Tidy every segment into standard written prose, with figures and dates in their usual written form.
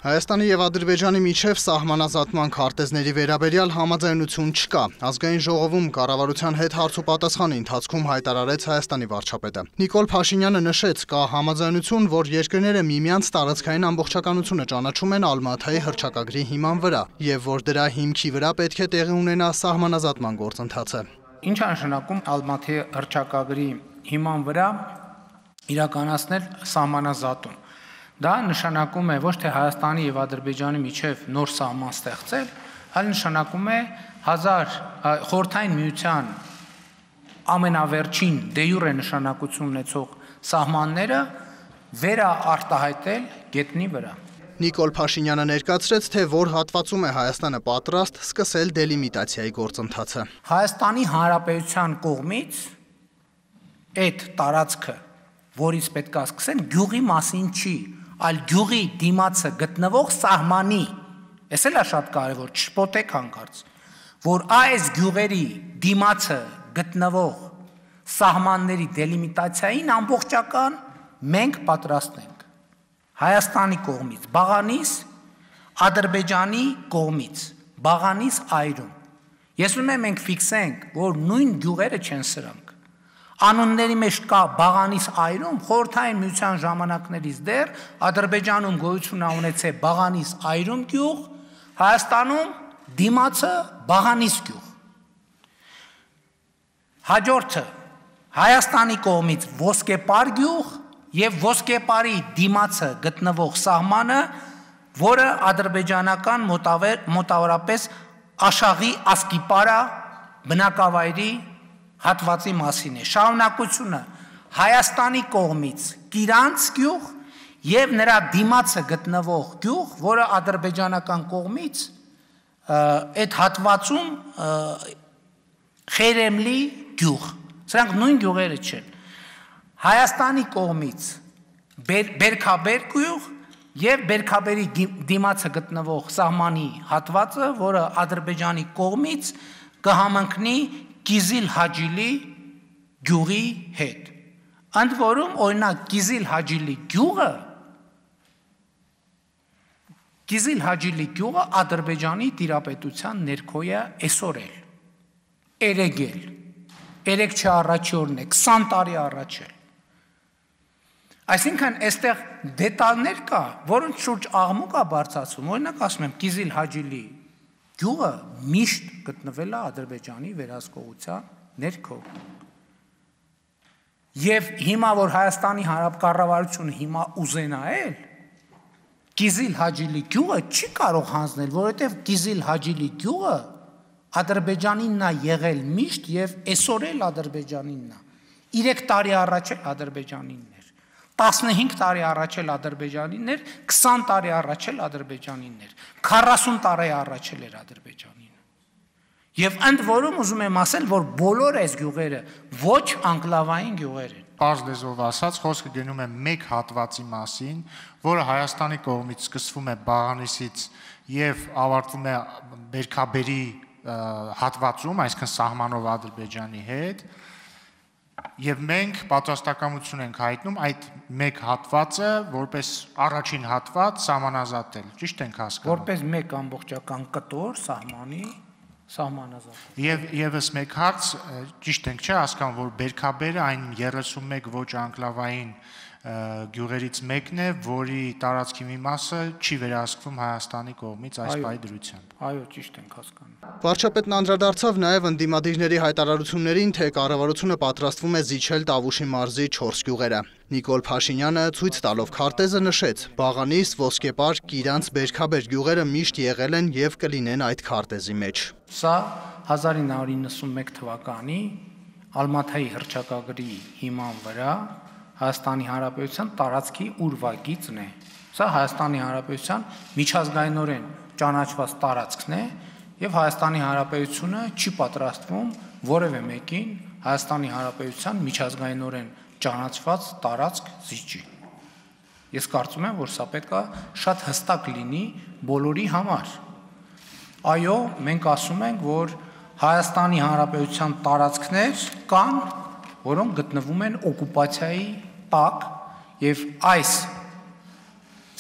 Հայաստանի և Ադրբեջանի միջև սահմանազատման քարտեզների վերաբերյալ համաձայնություն չկա։ Ազգային ժողովում կառավարության հետ հարցուպատասխանի ընթացքում հայտարարեց Հայաստանի վարչապետը։ Նիկոլ Փաշինյանը նշեց, կա համաձայնություն, որ երկրները միմյանց տարածքային ամբողջականությունը ճանաչում են Ալմաթայի հռչակագրի հիման վրա, եւ որ դրա հիմքի վրա պետք է տեղի ունենա սահմանազատման գործընթացը։ Ինչ է նշանակում Ալմաթի հռչակագրի հիման վրա իրականացնել սահմանազատում։ Դա նշանակում է ոչ թե Հայաստանի և Ադրբեջանի միջև նոր սահման ստեղծել, այլ նշանակում է Խորհրդային Միության ամենավերջին դե յուրե նշանակություն ունեցող սահմանները վերաարտահայտել գետնի վրա։ Նիկոլ Փաշինյանը ներկայացրեց, թե որ հատվածում է Հայաստանը պատրաստ սկսել դելիմիտացիայի գործընթացը։ Հայաստանի Հանրապետության կողմից այդ տարածքը, որից պետք է սկսեն, գյուղի մասին չի, այլ գյուղի դիմացը գտնվող սահմանի, այս էլ է շատ կարևոր, չշփոթեք հանկարծ, որ այս գյուղերի դիմացը գտնվող սահմանների դելիմիտացիային ամբողջական մենք պատրաստ ենք։ Հայաստանի կողմից բաղանիս, Ադրբեջանի կողմից բաղանիս այրում։ Ես ուզում եմ մենք ֆիքսենք, որ նույն գյուղերը չեն սրանք։ Անունների մեջ կա բաղանիս այրում, Խորհրդային Միության ժամանակներից դեռ Ադրբեջանում գոյություն ունեցել բաղանիս այրում գյուղ, Հայաստանում դիմացը բաղանիս գյուղ։ Հաջորդը Հայաստանի կողմից ոսկեպար գյուղ եւ ոսկեպարի դիմացը գտնվող սահմանը, որը ադրբեջանական մոտավորապես Աշաղի Ասկիպարա բնակավայրի հատվածի մասին է։ Շարունակությունը Հայաստանի կողմից Կիրանց գյուղ եւ նրա դիմացը գտնվող գյուղ, որը ադրբեջանական կողմից այդ հատվածում Խերեմլի գյուղ։ Սրանք նույն գյուղերը չեն։ Հայաստանի կողմից Բերքաբեր գյուղ եւ Բերքաբերի դիմացը գտնվող սահմանի հատվածը, որը Ադրբեջանի կողմից կհամընկնի Կիզիլ Հաջիլի գյուղի հետ։ Ընդ որում, օրինակ Կիզիլ Հաջիլի գյուղը Ադրբեջանի տիրապետության ներքո է այսօր էլ, երեկ չի առաջի օրն է, 20 տարի առաջ է։ Այսինքն այստեղ դետալներ կա, որոնց շուրջ աղմուկ է բարձրացում, օրինակ ասում եմ Կիզիլ Հաջիլի գյուղը միշտ գտնվել է Ադրբեջանի վերահսկողության ներքո։ Եվ հիմա, որ Հայաստանի Հանրապետությունը հիմա ուզենայել, Կիզիլ Հաջիլի գյուղը չի կարող հանձնել, որովհետև Կիզիլ Հաջիլի գյուղը Ադրբեջանինն է եղել միշտ եւ այսօր էլ Ադրբեջանինն է։ 3 տարի առաջ էլ Ադրբեջանինն էր, 15 տարի առաջ էլ Ադրբեջանինն էր, 20 տարի առաջ էլ Ադրբեջանինն էր, 40 տարի առաջ էլ էր Ադրբեջանին։ Եվ ընդ որում ուզում եմ ասել, որ բոլոր այս գյուղերը ոչ անկլավային գյուղեր են։ Պարզ լեզվով ասած, խոսքը գնում է մեկ հատվածի մասին, որը Հայաստանի կողմից սկսվում է Բաղանիսից եւ ավարտվում է Բերքաբերի հատվածում, այսինքն սահմանով Ադրբեջանի հետ, եւ մենք պատրաստակամություն ենք հայտնում այդ մեկ հատվածը որպես առաջին հատված սահմանազատել, ճիշտ ենք հասկանում։ Որպես մեկ ամբողջական կտոր սահմանի սահմանազատել։ Եվ եւս մեկ հարց, ճիշտ ենք չէ հասկանում, որ Բերքաբերը այն 31 ոչ անկլավային գյուղերից մեկն է, որի տարածքի մի մասը չի վերահսկվում Հայաստանի կողմից այս պահի դրությամբ։ Այո, ճիշտ ենք հասկանում։ Վարչապետն անդրադարձավ նաև ընդդիմադիրների հայտարարություններին, թե կառավարությունը պատրաստվում է զիջել Տավուշի մարզի 4 գյուղերը։ Նիկոլ Փաշինյանը ցույց տալով քարտեզը նշեց. Բաղանիս, Ոսկեպար, Կիրանց, Բերքաբեր գյուղերը միշտ եղել են եւ կլինեն այդ քարտեզի մեջ։ Սա 1991 թվականի Ալմաթայի հռչակագրի հիման վրա Հայաստանի Հանրապետության տարածքի ուրվագիծն է։ Սա Հայաստանի Հանրապետության միջազգայինորեն ճանաչված տարածքն է եւ Հայաստանի Հանրապետությունը չի պատրաստվում որևէ մեկին Հայաստանի Հանրապետության միջազգայինորեն ճանաչված տարածք զիջի։ Ես կարծում եմ, որ սա պետք է շատ հստակ լինի բոլորի համար։ Այո, մենք ասում ենք, որ Հայաստանի Հանրապետության տարածքներ կան, որոնք գտնվում են օկուպացիայի տակ եւ այս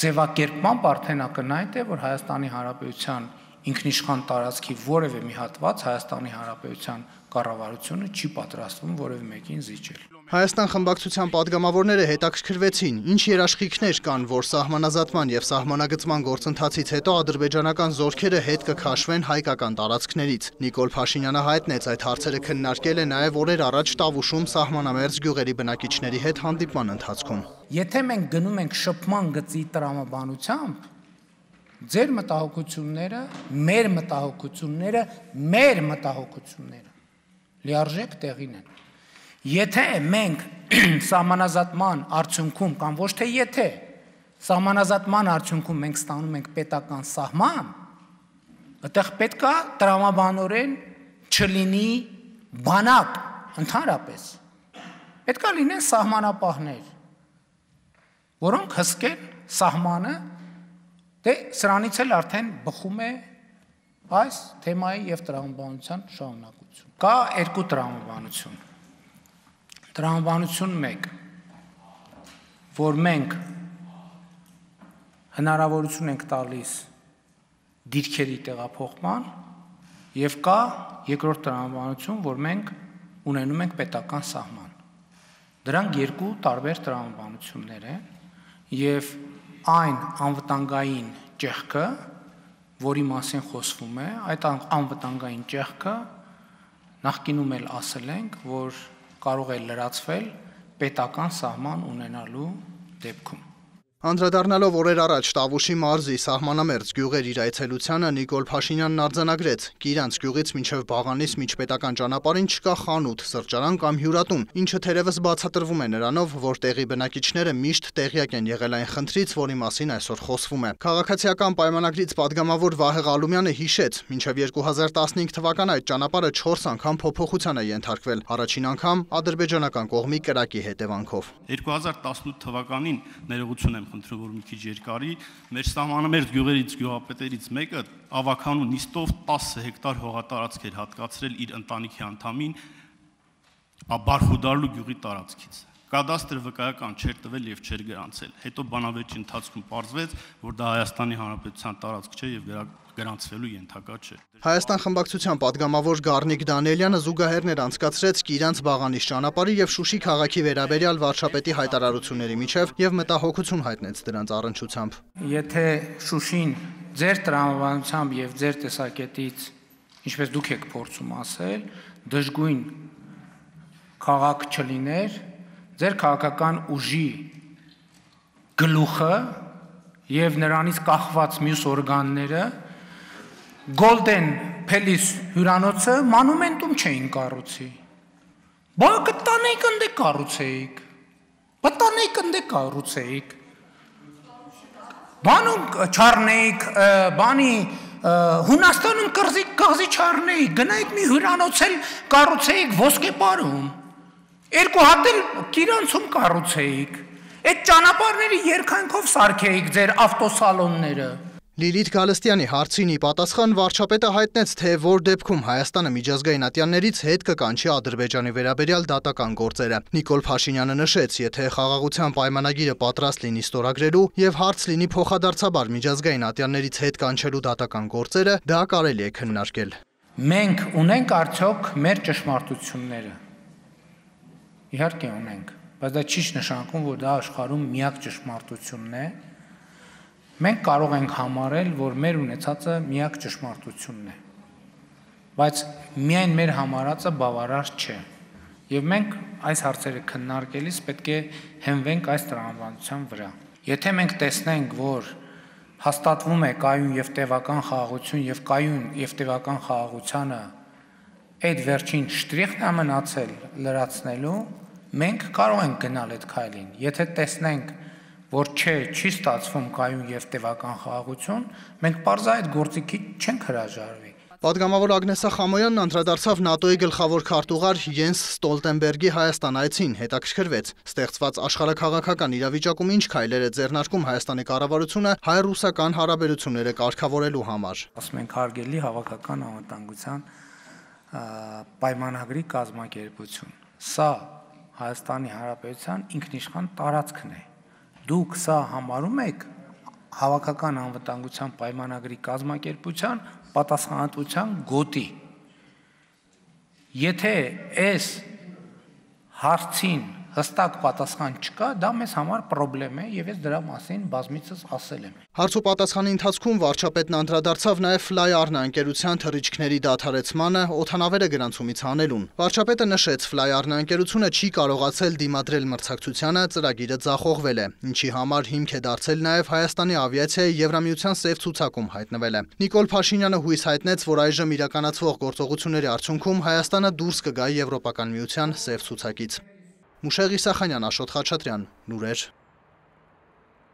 ձևակերպմամբ արդեն ակնհայտ է, որ Հայաստանի Հանրապետության ինքնիշխան տարածքի որևէ մի հատված Հայաստանի Հանրապետության կառավարությունը չի պատրաստվում որևէ մեկին զիջել։ Հայաստան խմբակցության падգամավորները հետաքրքրվեցին, ինչ երաշխիքներ կան, որ սահմանազատման եւ սահմանագծման գործընթացից հետո ադրբեջանական զորքերը հետ կքաշվեն հայկական տարածքներից։ Նիկոլ Փաշինյանը հայտնեց այդ հարցերը քննարկել է նաեւ օրեր առաջ Տավուշում սահմանամերձ գյուղերի բնակիչների հետ հանդիպման ընթացքում։ Եթե մենք գնում ենք շփման գծի տրամաբանությամբ, ձեր մտահոգությունները, մեր մտահոգությունները լիարժեք տեղին են։ Եթե մենք սահմանազատման արդյունքում կամ ոչ թե եթե սահմանազատման արդյունքում մենք ստանում ենք պետական սահման, այդտեղ պետք է տրամաբանորեն չլինի բանակ ընդհանրապես։ Պետք է լինեն սահմանապահներ, որոնք հսկեն սահմանը, դե սրանից էլ արդեն բխում է այս թեմայի եւ տրամաբանության շարունակություն։ Կա երկու տրամաբանություն։ Տրամաբանություն 1, որ մենք հնարավորություն ենք տալիս դիրքերի տեղափոխման, եւ կա երկրորդ տրամաբանություն, որ մենք ունենում ենք պետական սահման։ Դրանք երկու տարբեր տրամաբանություններ են, եւ այն անվտանգային ճեղքը, որի մասին խոսվում է, այդ անվտանգային ճեղքը նախկինում էլ ասել ենք, որ կարող է լրացվել պետական սահման ունենալու դեպքում։ Անդրադառնալով օրեր առաջ Տավուշի մարզի սահմանամերձ գյուղեր իր այցելությանը Նիկոլ Փաշինյանն արձանագրեց. Կիրանց գյուղից մինչև Բաղանիս միջպետական ճանապարհին չկա խանութ, սրճարան կամ հյուրատուն, ինչը թերևս բացատրվում է նրանով, որ տեղի բնակիչները միշտ տեղյակ են եղել այն խնդրից, որի մասին այսօր խոսվում է։ Քաղաքացիական պայմանագրից падգամավոր Վահե Ղալումյանը հիշեց, մինչև 2015 թվականը այդ ճանապարհը 4 անգամ փոփոխության է ենթարկվել, առաջին անգամ ադրբեջանական կողմի կրակի հետևանքով։ 2018 թվականին ներողություն եմ խնդրում, որ մի քիչ երկարի, մեր սահմանամերձ գյուղերից գյուղապետերից մեկը ավականու նիստով 10 հեկտար հողատարածք էր հատկացրել իր ընտանիքի անդամին Բարխուդարլու գյուղի տարածքից։ Կադաստրը վկայական չէր տվել եւ չէր գրանցել։ Հետո բանավեճի ընթացքում պարզվեց, որ դա Հայաստանի Հանրապետության տարածք չէ եւ գրանցվելու ենթակա չէ։ Հայաստան խմբակցության падգամավոր Գառնիկ Դանիելյանը զուգահեռներ անցկացրեց Կիրանց Բաղանիս ճանապարհի եւ Շուշի քաղաքի վերաբերյալ վարչապետի հայտարարությունների միջև եւ մտահոգություն հայտնեց դրանց առնչությամբ։ Եթե Շուշին ձեր տրամաբանությամբ եւ ձեր տեսակետից, ինչպես դուք եք փորձում ասել, դժգույն քաղաք չլիներ, ձեր քաղաքական ուժի գլուխը եւ նրանից կախված մյուս օրգանները Golden Palace հյուրանոցը մանումենտում չէին կառուցի։ Բա կտանեիք ընդ կառուցեիք։ Պատանեիք ընդ կառուցեիք։ Բանում չառնեիք, բանի Հունաստանում կղզի չառնեիք, գնայիք մի հյուրանոց էլ կառուցեիք Ոսկեպարում։ Երկու հատ էլ Կիրանցում կառուցեիք։ Այդ ճանապարհների երկայնքով սարքեիք ձեր ավտոսալոնները։ Լիլիթ Գալստյանի հարցին ի պատասխան վարչապետը հայտնեց, թե որ դեպքում Հայաստանը միջազգային ատյաններից հետ կկանչի Ադրբեջանի վերաբերյալ դատական գործերը։ Նիկոլ Փաշինյանը նշեց, եթե խաղաղության պայմանագիրը պատրաստ լինի ստորագրելու եւ հարց լինի փոխադարձաբար միջազգային ատյաններից հետ կանչելու դատական գործերը, դա կարելի է քննարկել։ Մենք ունենք արդյոք մեր ճշմարտությունները։ Իհարկե ունենք, բայց դա չի նշանակում, որ դա աշխարհում միակ ճշմարտությունն է։ Մենք կարող ենք համարել, որ մեր ունեցածը միակ ճշմարտությունն է, բայց միայն մեր համարածը բավարար չէ, եւ մենք այս հարցերը քննարկելիս պետք է հենվենք այս տրամաբանության վրա։ Եթե մենք տեսնենք, որ հաստատվում է կայուն եւ տևական խաղաղություն եւ կայուն եւ տևական խաղաղությանը այդ վերջին շտրիխն է մնացել լրացնելու, մենք կարող ենք գնալ այդ քայլին։ Եթե տեսնենք, որ չի ստացվում կայուն եւ տևական խաղաղություն, մենք պարզա այդ գործիքի չենք հրաժարվի։ Պատգամավոր Ագնեսա Խամոյանն անդրադարձավ ՆԱՏՕ-ի գլխավոր քարտուղար Յենս Ստոլտենբերգի Հայաստան այցին, հետաքրքրվեց ստեղծված աշխարհաքաղաքական իրավիճակում ինչ քայլեր է ձեռնարկում Հայաստանի կառավարությունը հայ-ռուսական հարաբերությունները կարգավորելու համար։ Ասում ենք հարգելի հավաքական անվտանգության պայմանագրի կազմակերպություն։ Սա Հայաստանի Հանրապետության ինքնիշխան տարածքն է։ Դուք սա համարում եք Հավաքական անվտանգության պայմանագրի կազմակերպության պատասխանատվության գոտի։ Եթե այս հարցին հստակ պատասխան չկա, դա մեզ համար խնդրեմ է եւ ես դրա մասին բազմիցս ասել եմ։ Հարցուպատասխանի ընթացքում վարչապետն անդրադարձավ նաև Fly-Arna ընկերության թռիչքների դադարեցմանը օդանավերը գրանցումից հանելուն։ Վարչապետը նշեց, Fly-Arna ընկերությունը չի կարողացել դիմադրել մրցակցությանը, ծրագիրը ձախողվել է, ինչի համար հիմք է դարձել նաև Հայաստանի ավիացիայի Եվրամիության սև ցուցակում հայտնվելը։ Նիկոլ Փաշինյանը հույս հայտնեց, որ այժմ իրականացվող գործողությունների արդյունքում Հայաստանը դուրս կգա Եվրոպական միության սև ցուցակից։ Մուշեղ Իսախանյան, Աշոտ Խաչատրյան, լուրեր։